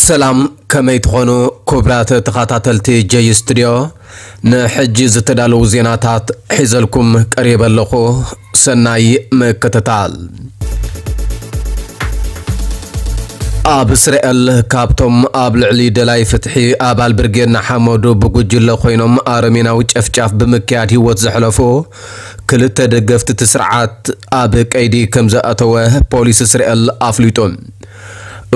ሰላም፣ ከመይ ትኾኑ ክቡራት ተኸታተልቲ ጀይ ስቱድዮ? ንሕጂ ዝተዳለዉ ዜናታት ሒዘልኩም ቀሪበ ኣለኹ። ሰናይ ምክትታል። ኣብ እስራኤል ካብቶም ኣብ ልዕሊ ደላይ ፍትሒ ኣባል ብርጌድ ንሓመዱ ብጉጅለ ኮይኖም ኣረሜናዊ ጨፍጫፍ ብምክያድ ህይወት ዘሕለፉ ክልተ ደገፍቲ እቲ ስርዓት ኣብ ቀይዲ ከም ዝኣተወ ፖሊስ እስራኤል ኣፍሊጡ።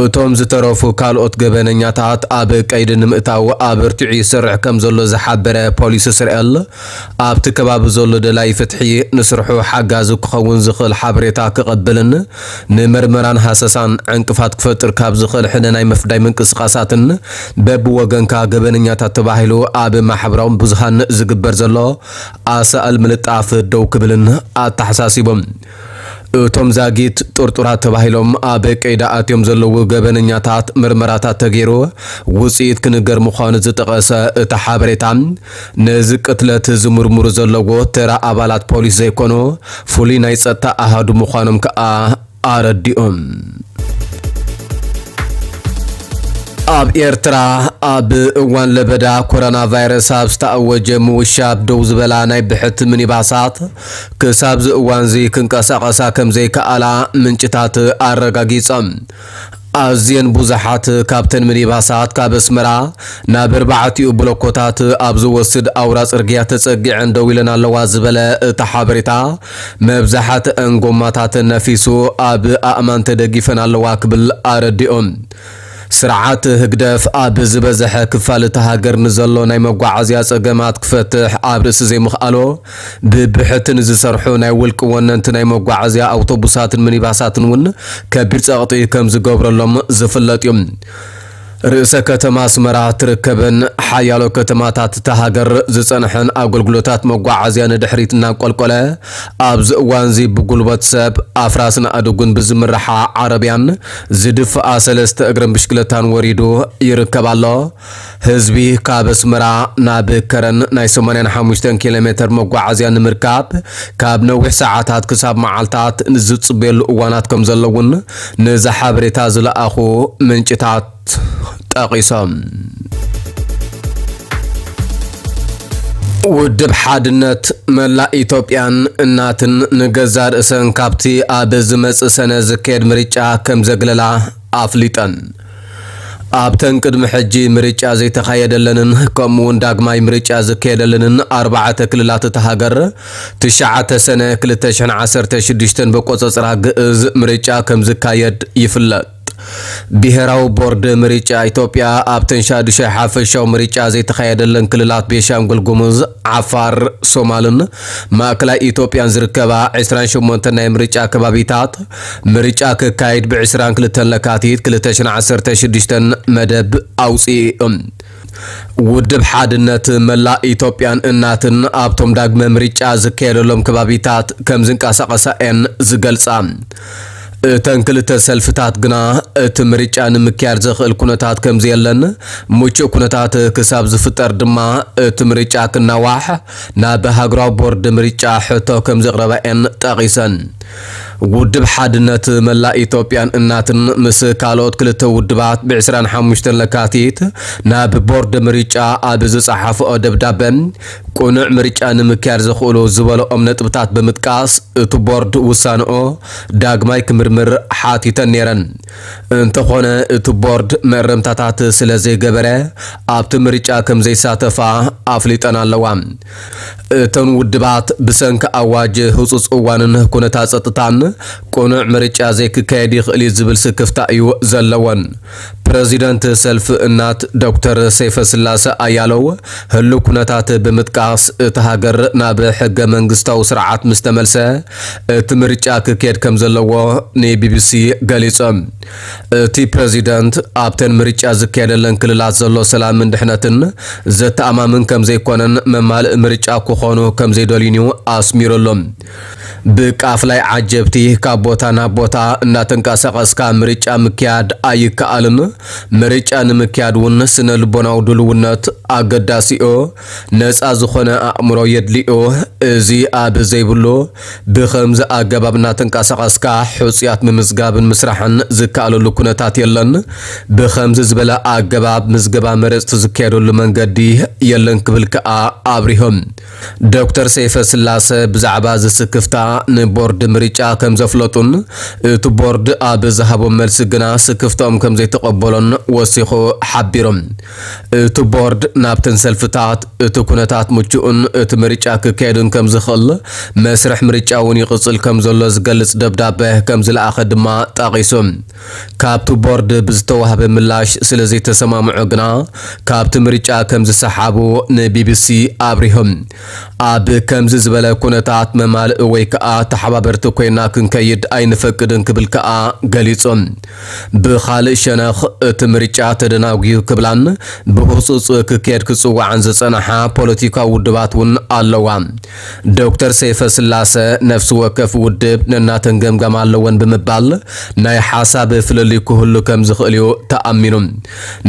እቶም ዝተረፉ ካልኦት ገበነኛታት ኣብ ቀይዲ ንምእታው ኣበርቲዑ ይሰርሕ ከም ዘሎ ዝሓበረ ፖሊስ እስራኤል፣ ኣብቲ ከባቢ ዘሎ ደላይ ፍትሒ ንስርሑ ሓጋዚ ክኸውን ዝኽእል ሓበሬታ ክቐብልን ንምርመራን ሃሰሳን ዕንቅፋት ክፈጥር ካብ ዝኽእል ሕነ ናይ ምፍዳይ ምንቅስቓሳትን በብወገንካ ገበነኛታት ተባሂሉ ኣብ ማሕበራዊ ብዙሃን ዝግበር ዘሎ ኣሳእል ምልጣፍ ደው ክብልን ኣተሓሳሲቦም። እቶም ዛጊት ጥርጡራት ተባሂሎም ኣብ ቀይዲ ኣትዮም ዘለዉ ገበነኛታት ምርመራታት ተገይሩ ውፅኢት ክንገር ምዃኑ ዝጠቐሰ እቲ ሓበሬታ፣ ነዚ ቅትለት ዝምርምሩ ዘለዉ ተራ ኣባላት ፖሊስ ዘይኮኑ ፍሉይ ናይ ጸጥታ ኣሃዱ ምዃኖም ከኣ ኣረዲኦም። ኣብ ኤርትራ ኣብ እዋን ለበዳ ኮሮና ቫይረስ ኣብ ዝተኣወጀ ምውሻብ ደው ዝበላ ናይ ብሕቲ ሚኒባሳት ክሳብ እዚ እዋን እዚ ክንቀሳቐሳ ከም ዘይከኣላ ምንጭታት ኣረጋጊጾም። ኣዝየን ብዙሓት ካብተን ሚኒባሳት ካብ ኣስመራ ናብ ኣርባዕቲኡ ብሎኮታት ኣብ ዝወስድ ኣውራ ጽርግያ ተጸጊዐን ደው ኢለን ኣለዋ ዝበለ እቲ ሓበሬታ፣ መብዛሕትአን ጎማታተን ነፊሱ ኣብ ኣእማን ተደጊፈን ኣለዋ ክብል ኣረዲኦም። ስርዓት ህግደፍ ኣብ ዝበዝሐ ክፋል እታ ሃገር ንዘሎ ናይ መጓዓዝያ ጸገማት ክፈትሕ ኣብ ርእሲ ዘይምኽኣሎ፣ ብብሕቲ ንዝሰርሑ ናይ ውልቂ ወነንቲ ናይ መጓዓዝያ ኣውቶቡሳትን ሚኒባሳትን እውን ከቢድ ጸቕጢ ከም ዝገብረሎም ዝፍለጥ እዩ። ርእሰ ከተማ ኣስመራ ትርከበን ሓያሎ ከተማታት እታ ሃገር ዝጸንሐን ኣገልግሎታት መጓዓዝያ ንድሕሪት እናንቆልቆለ፣ ኣብዚ እዋን እዚ ብጉልበት ሰብ ኣፍራስን ኣእዱግን ብዝምርሓ ዓረብያን ዝድፍኣ ሰለስተ እግርን ብሽክለታን ወሪዱ ይርከብ ኣሎ። ህዝቢ ካብ ኣስመራ ናብ ከረን ናይ ሰማንያን ሓሙሽተን ኪሎ ሜትር መጓዓዝያ ንምርካብ ካብ ነዊሕ ሰዓታት ክሳብ መዓልታት ዝጽበየሉ እዋናት ከም ዘሎ እውን ነዚ ሓበሬታ ዝለኣኹ ምንጭታት ጠቒሶም። ውድብ ሓድነት መላእ ኢትዮጵያን እናትን ንገዛእ ርእሰን ካብቲ ኣብ ዝመጽእ ሰነ ዝካየድ ምርጫ ከም ዘግለላ ኣፍሊጠን። ኣብተን ቅድሚ ሕጂ ምርጫ ዘይተኻየደለንን ከምኡውን ዳግማይ ምርጫ ዝካየደለንን ኣርባዕተ ክልላት እታ ሃገር፣ ትሽዓተ ሰነ ክልተ ሽሕን ዓሰርተ ሽዱሽተን ብቆጸጽራ ግእዝ ምርጫ ከም ዝካየድ ይፍለጥ። ብሄራዊ ቦርድ ምርጫ ኢትዮጵያ ኣብተን ሻዱሻይ ሓፈሻዊ ምርጫ ዘይተኻየደለን ክልላት ቤንሻንጉል ጉሙዝ፣ ዓፋር፣ ሶማልን ማእከላይ ኢትዮጵያን ዝርከባ ዕስራን ሸሞንተን ናይ ምርጫ ከባቢታት ምርጫ ክካየድ ብዕስራን ክልተን ለካቲት ክልተ ሽሕን ዓሰርተ ሽዱሽተን መደብ ኣውፂኡ። ውድብ ሓድነት መላእ ኢትዮጵያን እናትን ኣብቶም ዳግመ ምርጫ ዝካየደሎም ከባቢታት ከም ዝንቀሳቐሳ እየን ዝገልጻ። እተን ክልተ ሰልፍታት ግና እቲ ምርጫ ንምክያድ ዘኽእል ኩነታት ከም ዘየለን፣ ምቹእ ኩነታት ክሳብ ዝፍጠር ድማ እቲ ምርጫ ክናዋሕ ናብ ሃገራዊ ቦርድ ምርጫ ሕቶ ከም ዘቕረባ እየን ጠቒሰን። ውድብ ሓድነት መላእ ኢትዮጵያን እናትን ምስ ካልኦት ክልተ ውድባት ብዕስራን ሓሙሽተን ለካቲት ናብ ቦርድ ምርጫ ኣብ ዝጸሓፍኦ ደብዳበ፣ ቅኑዕ ምርጫ ንምክያድ ዘኽእሉ ዝበለኦም ነጥብታት ብምጥቃስ፣ እቲ ቦርድ ውሳንኦ ዳግማይ ክምርምር ሓቲተን ነይረን። እንተኾነ፣ እቲ ቦርድ መእረምታታት ስለ ዘይገበረ፣ ኣብቲ ምርጫ ከም ዘይሳተፋ ኣፍሊጠን ኣለዋ። እተን ውድባት ብሰንኪ ኣዋጅ ህጹጽ እዋንን ኩነታት ጸጥታን ቅኑዕ ምርጫ ዘይክካየድ ይኽእል እዩ ዝብል ስክፍታ እዩ ዘለወን። ፕረዚደንት ሰልፊ እናት ዶክተር ሰይፈስላሰ ኣያለው ህሉው ኩነታት ብምጥቃስ፣ እቲ ሃገር ናብ ሕገ መንግስታዊ ስርዓት ምስ ተመልሰ፣ እቲ ምርጫ ክካየድ ከም ዘለዎ ንቢቢሲ ገሊጾም። እቲ ፕረዚደንት ኣብተን ምርጫ ዝካየደለን ክልላት ዘሎ ሰላምን ድሕነትን ዘተኣማምን ከም ዘይኮነን መማልእ ምርጫ ክኾኑ ከም ዘይደልዩን እዩ ኣስሚሩሎም። ብቃፍላይ ዓጀብ እቲ ካብ ቦታ ናብ ቦታ እናተንቀሳቐስካ ምርጫ ምክያድ ኣይከኣልን። ምርጫ ንምክያድ እውን ስነ ልቦናዊ ድልውነት ኣገዳሲዮ። ነፃ ዝኾነ ኣእምሮ የድልዮ። እዚ ኣብ ዘይብሉ ብኸምዚ ኣገባብ እናተንቀሳቐስካ ሕፁያት ምምዝጋብን ምስራሕን ዝከኣለሉ ኩነታት የለን። ብኸምዚ ዝበለ ኣገባብ ምዝገባ መረፅቲ ዝካየደሉ መንገዲ የለን ክብል ከኣ ኣብሪሆም። ዶክተር ሰይፈ ስላሰ ብዛዕባ እዚ ስክፍታ ንቦርድ ምርጫ ከም ዘፍለጡን እቲ ቦርድ ኣብ ዝሃቦም መልሲ ግና ስክፍታኦም ከም ዘይተቐበሎን ወሲኹ ሓቢሮም። እቲ ቦርድ ናብተን ሰልፍታት እቲ ኩነታት ምቹእን እቲ ምርጫ ክካየድን ከም ዝኽእል መስርሕ ምርጫ እውን ይቕጽል ከም ዘሎ ዝገልጽ ደብዳበ ከም ዝለኣኸ ድማ ጠቒሱ። ካብቲ ቦርድ ብዝተዋህበ ምላሽ ስለ ዘይተሰማምዑ ግና ካብቲ ምርጫ ከም ዝሰሓቡ ንቢቢሲ ኣብሪሆም። ኣብ ከምዚ ዝበለ ኩነታት መማልእ ወይ ከኣ ተሓባበርቲ ኮይና ክንከይድ ኣይንፈቅድን ክብል ከኣ ገሊጹ። ብኻልእ ሸነኽ እቲ ምርጫ ተደናጉዩ ክብላን ብህጹጽ ክካየድ ክጽውዓን ዝጸናሓ ፖለቲካዊ ውድባት እውን ኣለዋ። ዶክተር ሰይፈ ስላሰ ነፍሲ ወከፍ ውድብ ነናተን ገምጋም ኣለወን ብምባል ናይ ሓሳብ ፍልልይ ክህሉ ከም ዝኽእል እዩ ተኣሚኑ።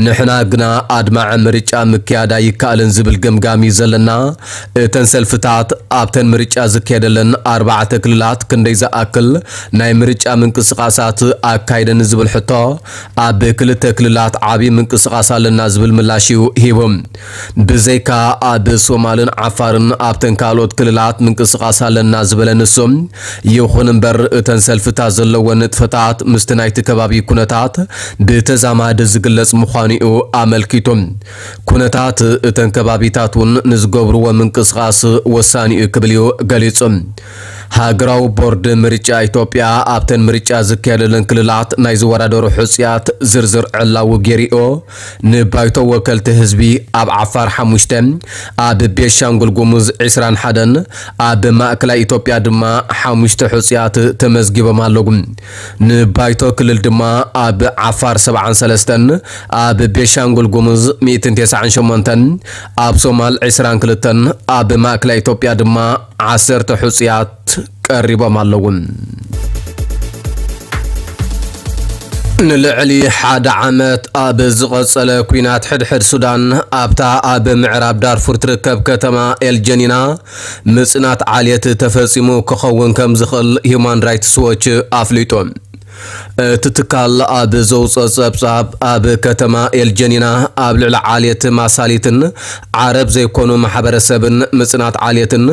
ንሕና ግና ኣድማዒ ምርጫ ምክያድ ኣይከኣልን ዝብል ገምጋም እዩ ዘለና። እተን ሰልፍታት ኣብተን ምርጫ ዝካየደለን ኣርባዕተ ክልላት ክንደይ ዝኣክል ናይ ምርጫ ምንቅስቓሳት ኣካይደን ዝብል ሕቶ ኣብ ክልተ ክልላት ዓብዪ ምንቅስቓስ ኣለና ዝብል ምላሽ እዩ ሂቡ። ብዘይካ ኣብ ሶማልን ዓፋርን ኣብተን ካልኦት ክልላት ምንቅስቓስ ኣለና ዝበለ ንሱ፣ ይኹን እምበር እተን ሰልፍታት ዘለወን ንጥፈታት ምስቲ ናይቲ ከባቢ ኩነታት ብተዛማዲ ዝግለጽ ምዃኑ እዩ ኣመልኪቱ። ኩነታት እተን ከባቢታት እውን ንዝገብርዎ ምንቅስቓስ ወሳኒ እዩ ክብል እዩ ገሊጹ። ሃገራዊ ቦርድ ምርጫ ኢትዮጵያ ኣብተን ምርጫ ዝካየደለን ክልላት ናይ ዝወዳደሩ ሕጹያት ዝርዝር ዕላዊ ገይሩዮ። ንባይቶ ወከልቲ ህዝቢ ኣብ ዓፋር ሓሙሽተ፣ ኣብ ቤንሻንጉል ጉሙዝ ዕስራን ሓደን፣ ኣብ ማእከላይ ኢትዮጵያ ድማ ሓሙሽተ ሕጹያት ተመዝጊቦም ኣለዉ። ንባይቶ ክልል ድማ ኣብ ዓፋር ሰብዓን ሰለስተን፣ ኣብ ቤንሻንጉል ጉሙዝ ሚእትን ተስዓን ሸሞንተን፣ ኣብ ሶማል ዕስራን ክልተን፣ ኣብ ማእከላይ ኢትዮጵያ ድማ ዓሰርተ ሕጹያት ቀሪቦም ኣለዉ። ንልዕሊ ሓደ ዓመት ኣብ ዝቐጸለ ኲናት ሕድሕድ ሱዳን፣ ኣብታ ኣብ ምዕራብ ዳርፉር ትርከብ ከተማ ኤልጀኒና ምጽናት ዓሌት ተፈጺሙ ክኸውን ከም ዝኽእል ሂዩማን ራይትስ ዎች ኣፍሊጡ። እቲ ትካል ኣብ ዘውፅኦ ጸብጻብ፣ ኣብ ከተማ ኤልጀኒና ኣብ ልዕሊ ዓሌት ማሳሊትን ዓረብ ዘይኮኑ ማሕበረሰብን ምጽናት ዓሌትን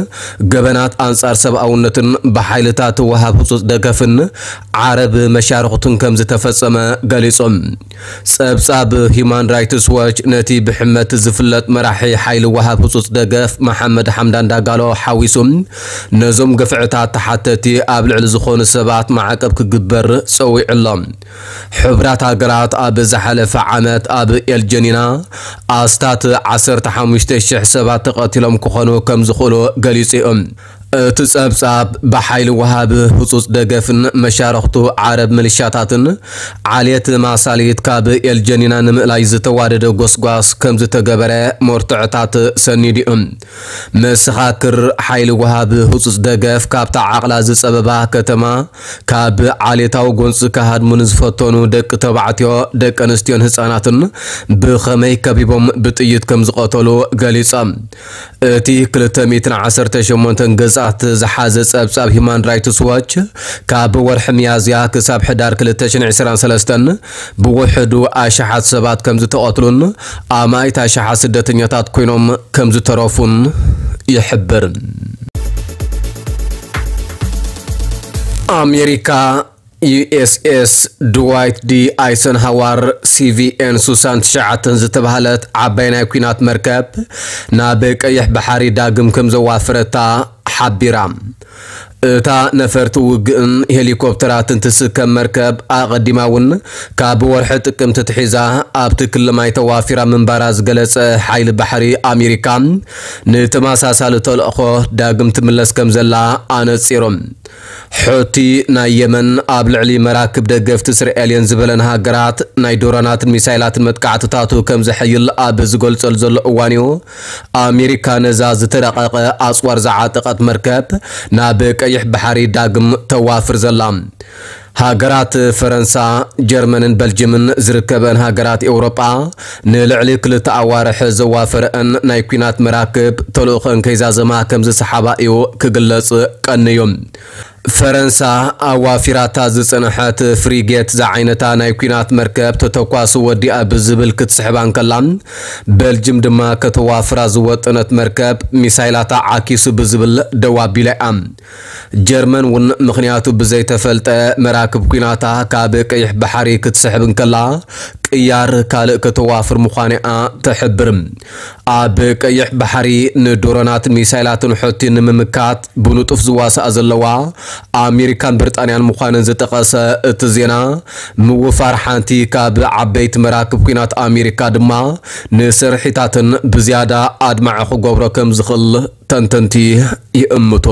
ገበናት ኣንጻር ሰብኣውነትን ብሓይልታት ወሃብ ህጹጽ ደገፍን ዓረብ መሻርኽቱን ከም ዝተፈጸመ ገሊጾም። ጸብጻብ ሂዩማን ራይትስ ዎች ነቲ ብሕመት ዝፍለጥ መራሒ ሓይሊ ወሃብ ህጹጽ ደገፍ መሓመድ ሓምዳን ዳጋሎ ሓዊሱ፣ ነዞም ግፍዕታት ተሓተቲ ኣብ ልዕሊ ዝኾኑ ሰባት ማዕቀብ ክግበር ጸዊዑ ኣሎ። ሕቡራት ሃገራት ኣብ ዝሓለፈ ዓመት ኣብ ኤልጀኒና ኣስታት ዓሰርተ ሓሙሽተ ሽሕ ሰባት ተቐቲሎም ክኾኑ ከም ዝኽእሉ ገሊጹ እዩ። እቲ ጸብጻብ ብሓይሊ ወሃቢ ህጹጽ ደገፍን መሻርኽቱ ዓረብ ሚሊሻታትን ዓሌት ማሳሊት ካብ ኤልጀኒና ንምእላይ ዝተዋደደ ጎስጓስ ከም ዝተገበረ መርትዖታት ሰኒዱ እዩ። መሰኻክር ሓይሊ ወሃቢ ህጹጽ ደገፍ ካብታ ዓቕላ ዝጸበባ ከተማ ካብ ዓሌታዊ ጎንጺ ክሃድሙ ንዝፈተኑ ደቂ ተባዕትዮ፣ ደቂ ኣንስትዮን ህጻናትን ብኸመይ ከቢቦም ብጥይት ከም ዝቐተሉ ገሊጾም። እቲ ክልተ ሚእትን ዓሰርተ ሸሞንተን ገጻት ዝሓዘ ጸብጻብ ሂዩማን ራይትስ ዎች፣ ካብ ወርሒ ሚያዝያ ክሳብ ሕዳር ክልተ ሽሕን ዕስራን ሰለስተን ብውሕዱ ኣሽሓት ሰባት ከም ዝተቐትሉን ኣማኢት ኣሽሓት ስደተኛታት ኮይኖም ከም ዝተረፉን ይሕብር። ኣሜሪካ፣ ዩ ኤስ ኤስ ድዋይት ዲ ኣይሰንሃዋር፣ ሲ ቪ ኤን ሱሳን ትሽዓተን ዝተባህለት ዓባይ ናይ ኲናት መርከብ ናብ ቀይሕ ባሕሪ ዳግም ከም ዘዋፈረታ ሓቢራ። እታ ነፈርቲ ውግእን ሄሊኮፕተራትን ትስከም መርከብ ኣቐዲማ እውን ካብ ወርሒ ጥቅምቲ ትሒዛ ኣብቲ ክሊ ማይ ተዋፊራ ምንባራ ዝገለጸ ሓይሊ ባሕሪ ኣሜሪካ፣ ንተመሳሳሊ ተልእኾ ዳግም ትምለስ ከም ዘላ ኣነጺሩ። ሑቲ ናይ የመን ኣብ ልዕሊ መራክብ ደገፍቲ እስራኤልን ዝበለን ሃገራት ናይ ድሮናትን ሚሳይላትን መጥቃዕትታቱ ከም ዘሐይል ኣብ ዝገልጸሉ ዘሎ እዋን እዩ። ኣሜሪካ ነዛ ዝተረቐቐ ኣጽዋር ዝዓጠቐት መርከብ ናብ ቀይሕ ባሕሪ ዳግም ተዋፍር ዘላ። ሃገራት ፈረንሳ፣ ጀርመንን በልጅምን ዝርከበን ሃገራት ኤውሮጳ ንልዕሊ ክልተ ኣዋርሕ ዘዋፈረአን ናይ ኲናት መራክብ ተልእኾን ከይዛዘማ ከም ዝሰሓባ እዩ ክግለጽ ቀንዩ። ፈረንሳ ኣዋፊራታ ዝጸንሐት ፍሪጌት ዝዓይነታ ናይ ኲናት መርከብ ተተኳሲ ወዲኣ ብዝብል ክትስሕባ እንከላ፣ በልጅም ድማ ከተዋፍራ ዝወጠነት መርከብ ሚሳይላታ ዓኪሱ ብዝብል ደው ኣቢላ እያ። ጀርመን እውን ምኽንያቱ ብዘይተፈልጠ መራክብ ኲናታ ካብ ቀይሕ ባሕሪ ክትስሕብ እንከላ፣ ቅያር ካልእ ከተዋፍር ምዃና እያ ትሕብር። ኣብ ቀይሕ ባሕሪ ንድሮናትን ሚሳይላትን ሑቲ ንምምካት ብንጡፍ ዝዋሳኣ ዘለዋ ኣሜሪካን ብሪጣንያን ምዃነን ዝጠቐሰ እቲ ዜና፣ ምውፋር ሓንቲ ካብ ዓበይቲ መራክብ ኲናት ኣሜሪካ ድማ ንስርሒታትን ብዝያዳ ኣድማዒ ክገብሮ ከም ዝኽእል ተንተንቲ ይእምቱ።